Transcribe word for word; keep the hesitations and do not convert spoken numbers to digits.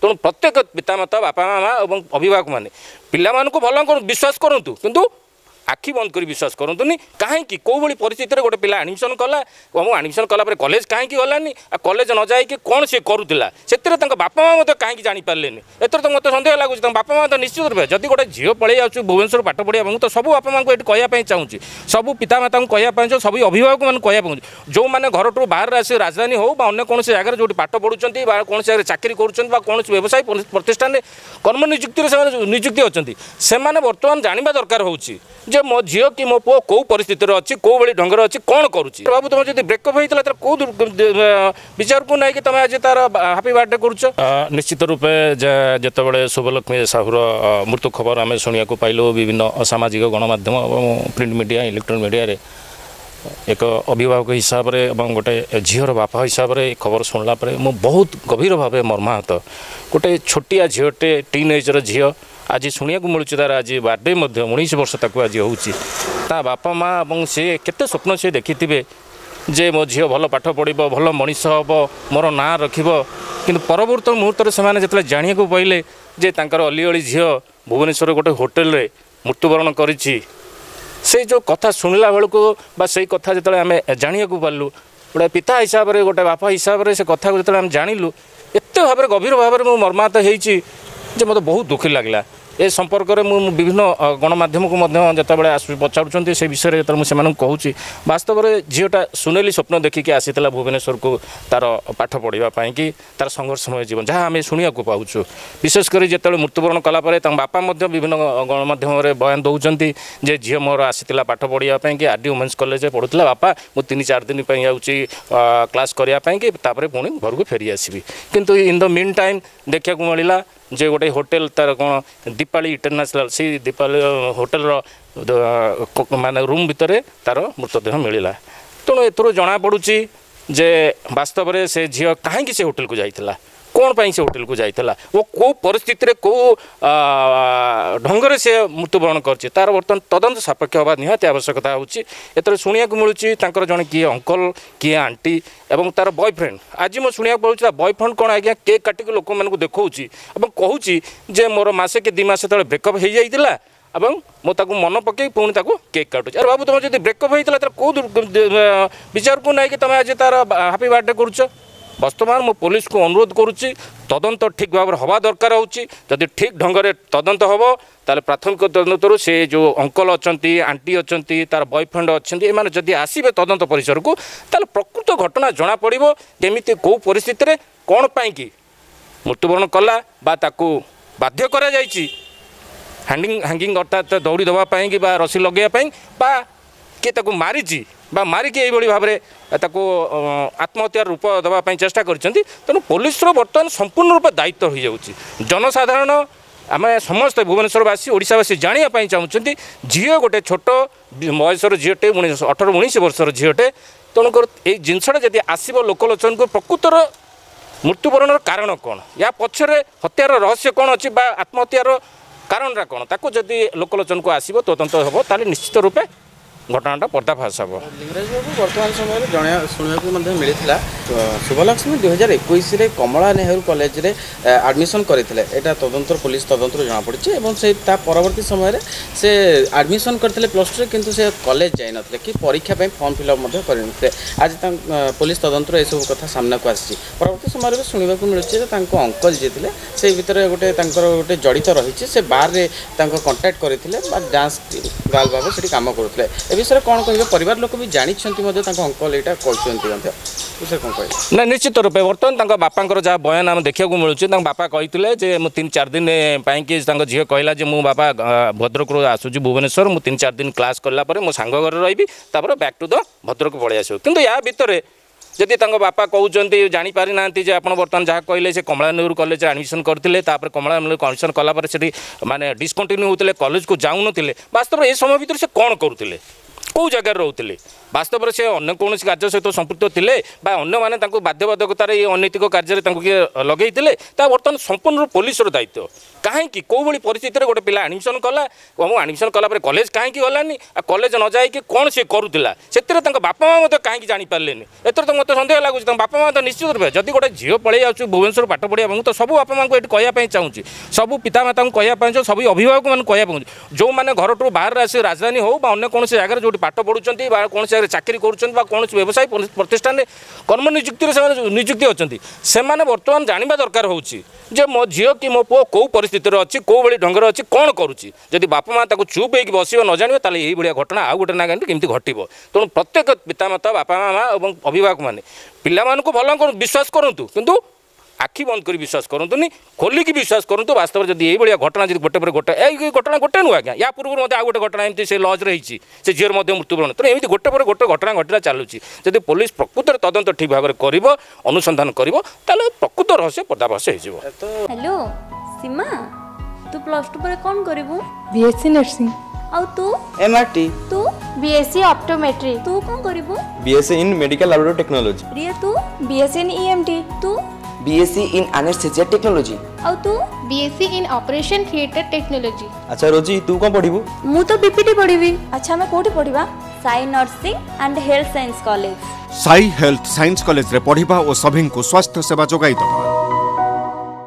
ତେଣୁ ପ୍ରତ୍ୟେକ ପିତାମାତା, ବାପା ମା ଏବଂ ଅଭିଭାବକମାନେ ପିଲାମାନଙ୍କୁ ଭଲ ବିଶ୍ୱାସ କରନ୍ତୁ, କିନ୍ତୁ ଆଖି ବନ୍ଦ କରି ବିଶ୍ୱାସ କରନ୍ତୁନି। କାହିଁକି, କେଉଁଭଳି ପରିସ୍ଥିତିରେ ଗୋଟେ ପିଲା ଆଡ଼ମିସନ୍ କଲା ଏବଂ ଆଡ଼ମିସନ୍ କଲା ପରେ କଲେଜ କାହିଁକି ଗଲାନି, ଆଉ କଲେଜ ନ ଯାଇକି କ'ଣ ସିଏ କରୁଥିଲା, ସେଥିରେ ତାଙ୍କ ବାପା ମା ମଧ୍ୟ କାହିଁକି ଜାଣିପାରିଲେନି, ଏଥିରେ ତ ମୋତେ ସନ୍ଦେହ ଲାଗୁଛି। ତାଙ୍କ ବାପା ମା ତ ନିଶ୍ଚିତ ରୂପେ ଯଦି ଗୋଟେ ଝିଅ ପଳେଇ ଯାଉଛି ଭୁବନେଶ୍ୱର ପାଠ ପଢ଼ିବା, ମୁଁ ତ ସବୁ ବାପା ମାଆଙ୍କୁ ଏଠି କହିବା ପାଇଁ ଚାହୁଁଛି, ସବୁ ପିତାମାତାଙ୍କୁ କହିବା ପାଇଁ ଚାହୁଁଛି, ସବୁ ଅଭିଭାବକମାନଙ୍କୁ କହିବା ପାଇଁ ଚାହୁଁଛି, ଯେଉଁମାନେ ଘରଠୁ ବାହାରେ ଆସି ରାଜଧାନୀ ହେଉ ବା ଅନ୍ୟ କୌଣସି ଜାଗାରେ ଯେଉଁଠି ପାଠ ପଢ଼ୁଛନ୍ତି ବା କୌଣସି ଜାଗାରେ ଚାକିରି କରୁଛନ୍ତି ବା କୌଣସି ବ୍ୟବସାୟ ପ୍ରତିଷ୍ଠାନରେ କର୍ମ ନିଯୁକ୍ତିରେ ସେମାନେ ନିଯୁକ୍ତି ଅଛନ୍ତି, ସେମାନେ ବର୍ତ୍ତମାନ ଜାଣିବା ଦରକାର ହେଉଛି ଯେ ମୋ ଝିଅ କି ମୋ ପୁଅ କେଉଁ ପରିସ୍ଥିତିରେ ଅଛି, କେଉଁ ଭଳି ଢଙ୍ଗରେ ଅଛି, କ'ଣ କରୁଛି। ବାବୁ, ତୁମର ଯଦି ବ୍ରେକଅପ୍ ହେଇଥିଲା, ତାହେଲେ କେଉଁ ବିଚାରକୁ ନେଇକି ତୁମେ ଆଜି ତାର ହାପି ବାର୍ଥଡେ କରୁଛ? ନିଶ୍ଚିତ ରୂପେ ଯେତେବେଳେ ଶୁଭଲକ୍ଷ୍ମୀ ସାହୁର ମୃତ୍ୟୁ ଖବର ଆମେ ଶୁଣିବାକୁ ପାଇଲୁ ବିଭିନ୍ନ ସାମାଜିକ ଗଣମାଧ୍ୟମ ଏବଂ ପ୍ରିଣ୍ଟ ମିଡ଼ିଆ, ଇଲେକ୍ଟ୍ରୋନିକ୍ ମିଡ଼ିଆରେ, ଏକ ଅଭିଭାବକ ହିସାବରେ ଏବଂ ଗୋଟେ ଝିଅର ବାପା ହିସାବରେ ଏ ଖବର ଶୁଣିଲା ପରେ ମୁଁ ବହୁତ ଗଭୀର ଭାବେ ମର୍ମାହତ। ଗୋଟେ ଛୋଟିଆ ଝିଅଟେ, ଟିନ୍ ଏଜ୍ର ଝିଅ, ଆଜି ଶୁଣିବାକୁ ମିଳୁଛି ତାର ଆଜି ବାର୍ଥଡେ ମଧ୍ୟ, ଉଣେଇଶ ବର୍ଷ ତାକୁ ଆଜି ହେଉଛି। ତା ବାପା ମା ଏବଂ ସେ କେତେ ସ୍ୱପ୍ନ ସେ ଦେଖିଥିବେ ଯେ ମୋ ଝିଅ ଭଲ ପାଠ ପଢ଼ିବ, ଭଲ ମଣିଷ ହେବ, ମୋର ନାଁ ରଖିବ। କିନ୍ତୁ ପରବର୍ତ୍ତୀ ମୁହୂର୍ତ୍ତରେ ସେମାନେ ଯେତେବେଳେ ଜାଣିବାକୁ ପାଇଲେ ଯେ ତାଙ୍କର ଅଲିଅଳି ଝିଅ ଭୁବନେଶ୍ୱର ଗୋଟେ ହୋଟେଲରେ ମୃତ୍ୟୁବରଣ କରିଛି, ସେଇ ଯେଉଁ କଥା ଶୁଣିଲା ବେଳକୁ ବା ସେଇ କଥା ଯେତେବେଳେ ଆମେ ଜାଣିବାକୁ ପାରିଲୁ, ଗୋଟେ ପିତା ହିସାବରେ, ଗୋଟେ ବାପା ହିସାବରେ ସେ କଥାକୁ ଯେତେବେଳେ ଆମେ ଜାଣିଲୁ, ଏତେ ଭାବରେ ଗଭୀର ଭାବରେ ମୁଁ ମର୍ମାହତ ହେଇଛି ଯେ ମୋତେ ବହୁତ ଦୁଃଖୀ ଲାଗିଲା। ଏ ସମ୍ପର୍କରେ ମୁଁ ବିଭିନ୍ନ ଗଣମାଧ୍ୟମକୁ ମଧ୍ୟ ଯେତେବେଳେ ଆସୁ ପଚାରୁଛନ୍ତି ସେ ବିଷୟରେ, ଯେତେବେଳେ ମୁଁ ସେମାନଙ୍କୁ କହୁଛି, ବାସ୍ତବରେ ଝିଅଟା ସୁନେଲି ସ୍ୱପ୍ନ ଦେଖିକି ଆସିଥିଲା ଭୁବନେଶ୍ୱରକୁ ତାର ପାଠ ପଢ଼ିବା ପାଇଁକି, ତାର ସଂଘର୍ଷମୟ ଜୀବନ ଯାହା ଆମେ ଶୁଣିବାକୁ ପାଉଛୁ। ବିଶେଷ କରି ଯେତେବେଳେ ମୃତ୍ୟୁବରଣ କଲା ପରେ ତାଙ୍କ ବାପା ମଧ୍ୟ ବିଭିନ୍ନ ଗଣମାଧ୍ୟମରେ ବୟାନ ଦେଉଛନ୍ତି ଯେ ଝିଅ ମୋର ଆସିଥିଲା ପାଠ ପଢ଼ିବା ପାଇଁକି, ଆର୍ ଡି ଓମେନ୍ସ କଲେଜରେ ପଢ଼ୁଥିଲା, ବାପା ମୁଁ ତିନି ଚାରି ଦିନ ପାଇଁ ଯାଉଛି କ୍ଲାସ୍ କରିବା ପାଇଁକି, ତାପରେ ପୁଣି ଘରକୁ ଫେରି ଆସିବି। କିନ୍ତୁ ଇନ୍ the mean time ଦେଖିବାକୁ ମିଳିଲା ଯେ ଗୋଟେ ହୋଟେଲ ତାର କ'ଣ ଦୀପାଳି ଇଣ୍ଟରନ୍ୟାସନାଲ୍, ସେଇ ଦୀପାଳି ହୋଟେଲର ମାନେ ରୁମ୍ ଭିତରେ ତାର ମୃତଦେହ ମିଳିଲା। ତେଣୁ ଏଥିରୁ ଜଣାପଡ଼ୁଛି ଯେ ବାସ୍ତବରେ ସେ ଝିଅ କାହିଁକି ସେ ହୋଟେଲକୁ ଯାଇଥିଲା, କ'ଣ ପାଇଁ ସେ ହୋଟେଲକୁ ଯାଇଥିଲା ଓ କେଉଁ ପରିସ୍ଥିତିରେ କେଉଁ ଢଙ୍ଗରେ ସେ ମୃତ୍ୟୁବରଣ କରିଛି, ତାର ବର୍ତ୍ତମାନ ତଦନ୍ତ ସାପେକ୍ଷ ହେବା ନିହାତି ଆବଶ୍ୟକତା ହେଉଛି। ଏଥିରେ ଶୁଣିବାକୁ ମିଳୁଛି ତାଙ୍କର ଜଣେ କିଏ ଅଙ୍କଲ, କିଏ ଆଣ୍ଟି ଏବଂ ତାର ବୟଫ୍ରେଣ୍ଡ। ଆଜି ମୁଁ ଶୁଣିବାକୁ ପାଉଛି ତା ବୟଫ୍ରେଣ୍ଡ କ'ଣ ଆଜ୍ଞା କେକ୍ କାଟିକି ଲୋକମାନଙ୍କୁ ଦେଖାଉଛି ଏବଂ କହୁଛି ଯେ ମୋର ମାସେ କି ଦୁଇ ମାସ ତଳେ ବ୍ରେକଅପ୍ ହେଇଯାଇଥିଲା ଏବଂ ମୁଁ ତାକୁ ମନେ ପକାଇ ପୁଣି ତାକୁ କେକ୍ କାଟୁଛି। ଆରେ ବାବୁ, ତୁମର ଯଦି ବ୍ରେକଅପ୍ ହେଇଥିଲା, ତାହେଲେ କେଉଁ ବିଚାରକୁ ନେଇକି ତୁମେ ଆଜି ତାର ହାପି ବାର୍ଥଡେ କରୁଛ? ବର୍ତ୍ତମାନ ମୁଁ ପୋଲିସକୁ ଅନୁରୋଧ କରୁଛି, ତଦନ୍ତ ଠିକ୍ ଭାବରେ ହେବା ଦରକାର ହେଉଛି। ଯଦି ଠିକ୍ ଢଙ୍ଗରେ ତଦନ୍ତ ହେବ, ତାହେଲେ ପ୍ରାଥମିକ ତଦନ୍ତରୁ ସେ ଯେଉଁ ଅଙ୍କଲ ଅଛନ୍ତି, ଆଣ୍ଟି ଅଛନ୍ତି, ତାର ବୟଫ୍ରେଣ୍ଡ ଅଛନ୍ତି, ଏମାନେ ଯଦି ଆସିବେ ତଦନ୍ତ ପରିସରକୁ, ତାହେଲେ ପ୍ରକୃତ ଘଟଣା ଜଣାପଡ଼ିବ, କେମିତି କେଉଁ ପରିସ୍ଥିତିରେ କ'ଣ ପାଇଁକି ମୃତ୍ୟୁବରଣ କଲା ବା ତାକୁ ବାଧ୍ୟ କରାଯାଇଛି ହ୍ୟାଣ୍ଡିଂ ହ୍ୟାଙ୍ଗିଂ ଅର୍ଥାତ୍ ଦୌଡ଼ି ଦେବା ପାଇଁ କି ବା ରସି ଲଗାଇବା ପାଇଁ, ବା କିଏ ତାକୁ ମାରିଛି ବା ମାରିକି ଏଇଭଳି ଭାବରେ ତାକୁ ଆତ୍ମହତ୍ୟାର ରୂପ ଦେବା ପାଇଁ ଚେଷ୍ଟା କରିଛନ୍ତି। ତେଣୁ ପୋଲିସର ବର୍ତ୍ତମାନ ସମ୍ପୂର୍ଣ୍ଣ ରୂପେ ଦାୟିତ୍ୱ ହୋଇଯାଉଛି। ଜନସାଧାରଣ, ଆମେ ସମସ୍ତେ ଭୁବନେଶ୍ୱରବାସୀ, ଓଡ଼ିଶାବାସୀ ଜାଣିବା ପାଇଁ ଚାହୁଁଛନ୍ତି, ଝିଅ ଗୋଟେ ଛୋଟ ବୟସର ଝିଅଟେ, ଉଣେଇଶ ଅଠର ଉଣେଇଶ ବର୍ଷର ଝିଅଟେ, ତେଣୁକରି ଏଇ ଜିନିଷଟା ଯଦି ଆସିବ ଲୋକଲୋଚନକୁ, ପ୍ରକୃତର ମୃତ୍ୟୁବରଣର କାରଣ କ'ଣ, ୟା ପଛରେ ହତ୍ୟାର ରହସ୍ୟ କ'ଣ ଅଛି ବା ଆତ୍ମହତ୍ୟାର କାରଣଟା କ'ଣ, ତାକୁ ଯଦି ଲୋକଲୋଚନକୁ ଆସିବ, ତଦନ୍ତ ହେବ, ତାହେଲେ ନିଶ୍ଚିତ ରୂପେ ଘଟଣାଟା ପର୍ଦ୍ଦାଫାଶ ହେବ। ଲିଙ୍ଗରାଜ ବାବୁ, ବର୍ତ୍ତମାନ ସମୟରେ ଜଣେ ଶୁଣିବାକୁ ମଧ୍ୟ ମିଳିଥିଲା, ଶୁଭଲକ୍ଷ୍ମୀ ଦୁଇ ହଜାର ଏକୋଇଶରେ କମଳା ନେହେରୁ କଲେଜରେ ଆଡ଼ମିସନ୍ କରିଥିଲେ। ଏଇଟା ତଦନ୍ତର ପୋଲିସ ତଦନ୍ତରୁ ଜଣାପଡ଼ିଛି ଏବଂ ସେ ତା ପରବର୍ତ୍ତୀ ସମୟରେ ସେ ଆଡ଼ମିସନ୍ କରିଥିଲେ ପ୍ଲସ୍ ଟୁରେ, କିନ୍ତୁ ସେ କଲେଜ ଯାଇନଥିଲେ କି ପରୀକ୍ଷା ପାଇଁ ଫର୍ମ ଫିଲ୍ଅପ୍ ମଧ୍ୟ କରିନଥିଲେ। ଆଜି ତାଙ୍କ ପୋଲିସ ତଦନ୍ତରୁ ଏସବୁ କଥା ସାମ୍ନାକୁ ଆସିଛି। ପରବର୍ତ୍ତୀ ସମୟରେ ବି ଶୁଣିବାକୁ ମିଳୁଛି ଯେ ତାଙ୍କ ଅଙ୍କଲ ଯିଏ ଥିଲେ, ସେଇ ଭିତରେ ଗୋଟେ ତାଙ୍କର ଗୋଟେ ଜଡ଼ିତ ରହିଛି, ସେ ବାର୍ରେ ତାଙ୍କ କଣ୍ଟାକ୍ଟ କରିଥିଲେ ବା ଡାନ୍ସ ଗାର୍ଲ ଭାବେ ସେଠି କାମ କରୁଥିଲେ। ଏ ବିଷୟରେ କ'ଣ କହିବେ? ପରିବାର ଲୋକ ବି ଜାଣିଛନ୍ତି ମଧ୍ୟ, ତାଙ୍କ ଅଙ୍କଲ ଏଇଟା କହିଛନ୍ତି ମଧ୍ୟ, ବିଷୟରେ କ'ଣ କହିବେ? ନା, ନିଶ୍ଚିତ ରୂପେ ବର୍ତ୍ତମାନ ତାଙ୍କ ବାପାଙ୍କର ଯାହା ବୟାନ ଆମେ ଦେଖିବାକୁ ମିଳୁଛି, ତାଙ୍କ ବାପା କହିଥିଲେ ଯେ ମୁଁ ତିନି ଚାରି ଦିନ ପାଇଁକି, ତାଙ୍କ ଝିଅ କହିଲା ଯେ ମୁଁ ବାପା ଭଦ୍ରକରୁ ଆସୁଛି ଭୁବନେଶ୍ୱର, ମୁଁ ତିନି ଚାରି ଦିନ କ୍ଲାସ୍ କଲା ପରେ ମୋ ସାଙ୍ଗ ଘରେ ରହିବି, ତାପରେ ବ୍ୟାକ୍ ଟୁ the Bhadrak ପଳେଇ ଆସିବ। କିନ୍ତୁ ୟା ଭିତରେ ଯଦି ତାଙ୍କ ବାପା କହୁଛନ୍ତି ଜାଣିପାରିନାହାନ୍ତି ଯେ ଆପଣ ବର୍ତ୍ତମାନ ଯାହା କହିଲେ, ସେ କମଳା ନେହେରୁ କଲେଜରେ ଆଡ଼ମିସନ୍ କରିଥିଲେ, ତାପରେ କମଳା ନେହେରୁ ଆଡ଼ମିସନ୍ କଲା ପରେ ସେଠି ମାନେ ଡିସକଣ୍ଟିନ୍ୟୁ ହେଉଥିଲେ, କଲେଜକୁ ଯାଉନଥିଲେ, ବାସ୍ତବରେ ଏ ସମୟ ଭିତରେ ସେ କ'ଣ କରୁଥିଲେ? କେଉଁ ଜାଗାରେ ରହୁଥିଲେ? ବାସ୍ତବରେ ସେ ଅନ୍ୟ କୌଣସି କାର୍ଯ୍ୟ ସହିତ ସମ୍ପୃକ୍ତ ଥିଲେ ବା ଅନ୍ୟମାନେ ତାଙ୍କୁ ବାଧ୍ୟବାଧକତାରେ ଏ ଅନୈତିକ କାର୍ଯ୍ୟରେ ତାଙ୍କୁ କିଏ ଲଗେଇଥିଲେ, ତା ବର୍ତ୍ତମାନ ସମ୍ପୂର୍ଣ୍ଣ ପୋଲିସର ଦାୟିତ୍ୱ। କାହିଁକି, କେଉଁଭଳି ପରିସ୍ଥିତିରେ ଗୋଟେ ପିଲା ଆଡ଼ମିସନ୍ କଲା ଏବଂ ଆଡ଼ମିସନ୍ କଲା ପରେ କଲେଜ କାହିଁକି ଗଲାନି, ଆଉ କଲେଜ ନ ଯାଇକି କ'ଣ ସିଏ କରୁଥିଲା, ସେଥିରେ ତାଙ୍କ ବାପା ମା' ମଧ୍ୟ କାହିଁକି ଜାଣିପାରିଲେନି? ଏଥିରେ ତ ମୋତେ ସନ୍ଦେହ ଲାଗୁଛି ତାଙ୍କ ବାପା ମା' ତ ନିଶ୍ଚିତ ରୂପେ, ଯଦି ଗୋଟେ ଝିଅ ପଳେଇ ଯାଉଛି ଭୁବନେଶ୍ୱର ପାଠ ପଢ଼ିବା, ମୁଁ ତ ସବୁ ବାପା ମାଆଙ୍କୁ ଏଠି କହିବା ପାଇଁ ଚାହୁଁଛି, ସବୁ ପିତାମାତାଙ୍କୁ କହିବା ପାଇଁ ଚାହୁଁଛି, ସବୁ ଅଭିଭାବକମାନଙ୍କୁ କହିବା ପାଇଁ ଚାହୁଁଛି, ଯେଉଁମାନେ ଘରଠୁ ବାହାରେ ଆସି ରାଜଧାନୀ ହେଉ ବା ଅନ୍ୟ କୌଣସି ଜାଗାରେ ଯେଉଁଠି ପାଠ ପଢ଼ୁଛନ୍ତି ବା କୌଣସି ଜାଗାରେ ଚାକିରି କରୁଛନ୍ତି ବା କୌଣସି ବ୍ୟବସାୟ ପ୍ରତିଷ୍ଠାନରେ କର୍ମ ନିଯୁକ୍ତିରେ ସେମାନେ ନିଯୁକ୍ତି ଅଛନ୍ତି, ସେମାନେ ବର୍ତ୍ତମାନ ଜାଣିବା ଦରକାର ହେଉଛି ଯେ ମୋ ଝିଅ କି ମୋ ପୁଅ କେଉଁ ପରିସ୍ଥିତିରେ ଅଛି, କେଉଁ ଭଳି ଢଙ୍ଗରେ ଅଛି, କ'ଣ କରୁଛି। ଯଦି ବାପା ମା' ତାକୁ ଚୁପ୍ ହେଇକି ବସିବ, ନ ଜାଣିବେ, ତାହେଲେ ଏଇଭଳିଆ ଘଟଣା ଆଉ ଗୋଟେ ନା କେମିତି ଘଟିବ। ତେଣୁ ପ୍ରତ୍ୟେକ ପିତାମାତା, ବାପା ମା' ଏବଂ ଅଭିଭାବକମାନେ ପିଲାମାନଙ୍କୁ ଭଲ ବିଶ୍ୱାସ କରନ୍ତୁ, କିନ୍ତୁ ଆଖି ବନ୍ଦ କରି ବିଶ୍ୱାସ କରନ୍ତୁନି, ଖୋଲିକି ବିଶ୍ୱାସ କରନ୍ତୁ। ବାସ୍ତବରେ ଯଦି ଏଇଭଳିଆ ଘଟଣା ଯଦି ଗୋଟେ ପରେ ଗୋଟେ, ଏଇ ଘଟଣା ଗୋଟେ ନୁହେଁ ଆଜ୍ଞା, ୟା ପୂର୍ବରୁ ମଧ୍ୟ ଆଉ ଗୋଟେ ଘଟଣା ଏମିତି ସେ ଲଜ୍ରେ ହେଇଛି, ସେ ଝିଅର ମଧ୍ୟ ମୃତ୍ୟୁବରଣ। ତେଣୁ ଏମିତି ଗୋଟେ ପରେ ଗୋଟେ ଘଟଣା ଘଟିଲା ଚାଲୁଛି। ଯଦି ପୋଲିସ ପ୍ରକୃତରେ ତଦନ୍ତ ଠିକ୍ ଭାବରେ କରିବ, ଅନୁସନ୍ଧାନ କରିବ, ତାହେଲେ ପ୍ରକୃତ ରହସ୍ୟ ପର୍ଦ୍ଦାଫାଶ ହେଇଯିବ। ହ୍ୟାଲୋ ସୀମା, ତୁ ପ୍ଲସ୍ ଟୁ ପରେ କ'ଣ କରିବୁ? BSc nursing. ଆଉ ତୁ? ଏମଆରଟି। ତୁ? ବିଏସସି ଅପ୍ଟୋମେଟ୍ରି। ତୁ କ'ଣ କରିବୁ? BSc in medical laboratory technology. Riya, ତୁ? BSc in EMT. ତୁ? BSc in anaesthesia technology. ଆଉ ତୁ? BSc in operation theatre technology. ଆଚ୍ଛା ରୋଜି, ତୁ କ'ଣ ପଢ଼ିବୁ? ମୁଁ ତ ବିପିଟି ପଢ଼ିବି। ଆଚ୍ଛା, ଆମେ କୋଉଠି ପଢ଼ିବା? Sai nursing and health science college. Sai health science କଲେଜରେ ପଢ଼ିବା ଓ ସଭିଙ୍କୁ ସ୍ୱାସ୍ଥ୍ୟ ସେବା ଯୋଗାଇ ଦେବା।